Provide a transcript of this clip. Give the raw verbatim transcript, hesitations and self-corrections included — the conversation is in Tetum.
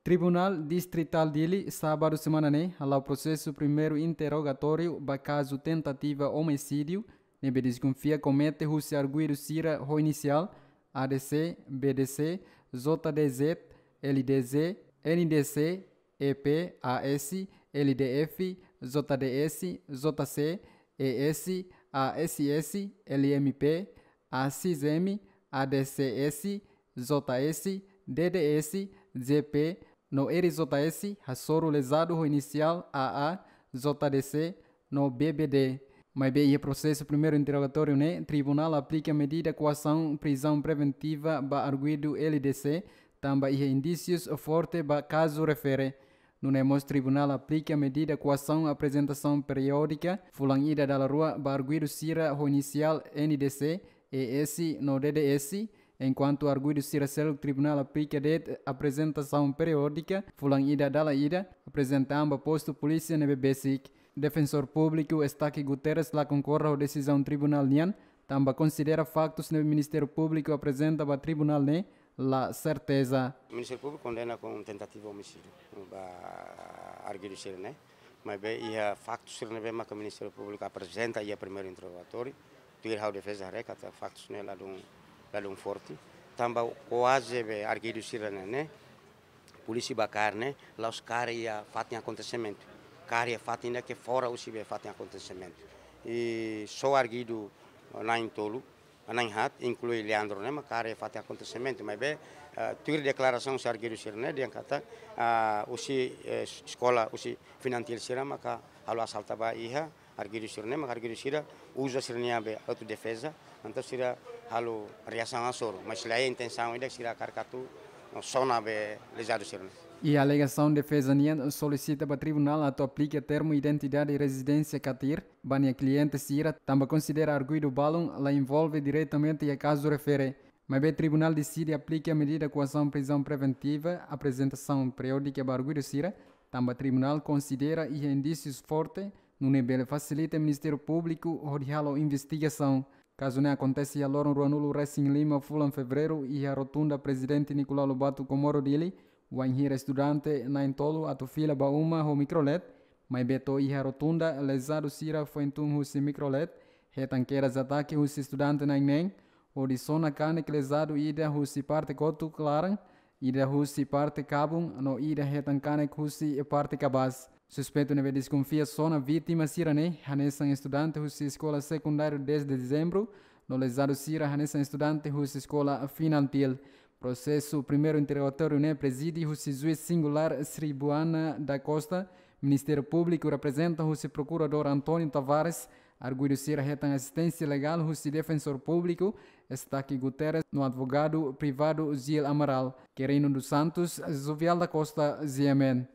Tribunál Distritál Dili, sábadu semana ne'e, hala'o prosesu primeiru interrogatóriu ba kazu tentativa omisídiu ne'ebé deskonfia komete husi arguidu sira ho inisiál A D C, B D C, J D Z, L D Z, N D C, E P, A S, L D F, J D S, J C, E S, A S S, L M P, A S M, A D C S, J S, D D S, J P, no R J S, hasoru lezadu ho inisiál A A, J D C, no B B D. Maibé iha prosesu primeiru interrogatóriu ne'e, tribunál aplika medida koasaun prizaun preventiva ba arguidu L D C, tanba iha indísius forte ba kazu refere. Nune'e mós tribunál aplika medida koasaun aprezentasaun periódika fulan ida dala rua ba arguidu sira ho inisiál N D C, E S no D D S, enkuantu arguidu sira seluk tribunál aplika de'it aprezentasaun periódika fulan ida dala ida, aprezenta an ba postu polísia ne'ebé besik. Defensór Públiku Estaque Guterres la konkorda ho desizaun tribunál nian, tanba konsidera faktus ne'ebé Ministériu Públiku aprezenta ba tribunál ne'e la serteza. Ministériu Públiku kondena ho tentativa omisídiu ba arguidu sira ne'e. Maibé iha faktus sira ne'ebé maka Ministériu Públiku aprezenta iha primeiru interrogatóriu, tuir ha'u defeza haree katak faktus ne'e ladún, ladún forte. Tanba kuaze be arguidu sira ne'e, ne'e polísia bá kaer ne'e, la'ós kaer iha fatin akontesimentu. Kaer iha fatin ne'ebé fora husi be fatin akontesimentu. I só arguidu na'in tolu, na'in haat, inklui Leandro ne'e, maka kaer iha fatin akontesimentu. Maibé, eh, tuir deklarasaun husi arguidu sira ne'e, dehan katak, ah, husi, eh, eskola, husi Finantil sira maka halo asalta ba iha arguidu sira ne'e, maka arguidu sira uza sira-nia be autodefeza, entaun sira halo reasaun hasoru, mas la iha intensaun ida sira hakarak atu sona be lezadu sira ne'e. Iha alegasaun, defeza nian solisita ba tribunál atu aplika termu identidade i rezidénsia katir ba nia kliente sira, tanba konsidera arguidu balun la envolve diretamente iha kazu refere. Maibé tribunál deside aplika medida koasaun prizaun preventiva, aprezentasaun periódika ba arguidu sira, tanba tribunál konsidera iha indísius forte, nune'e bele fasilita Ministériu Públiku hodi halo investigasaun. Kazu ne'e akontese iha loron ruanulu resin lima fulan Fevereiru iha Rotunda Prezidente Nicolau Lobato Comoro Dili, wainhira estudante na'in tolu atu fila ba uma ho mikrolet, maibé to'o iha rotunda lezadu sira foin tun husi mikrolet, hetan kedas atake husi estudante na'in neen, hodi sona kanek lezadu ida husi parte kotuk laran, ida husi parte kabun, no ida hetan kanek husi parte kabaas. Suspeitu ne'ebé deskonfia sona vítima sira ne'e hanesan estudante husi Eskola Sekundáriu Dez de Dezembro, no lezadu sira hanesan estudante husi Eskola Finantil. Prosesu primeiru interrogatóriu ne'e prezide husi juís singulár Sribuana da Costa, Ministériu Públiku reprezenta husi Prokuradór António Tavares, arguidu sira hetan asisténsia legál husi Defensór Públiku Estaque Guterres no advogadu privadu Gil Amaral. Querino dos Santos, Jovial da Costa, G M N.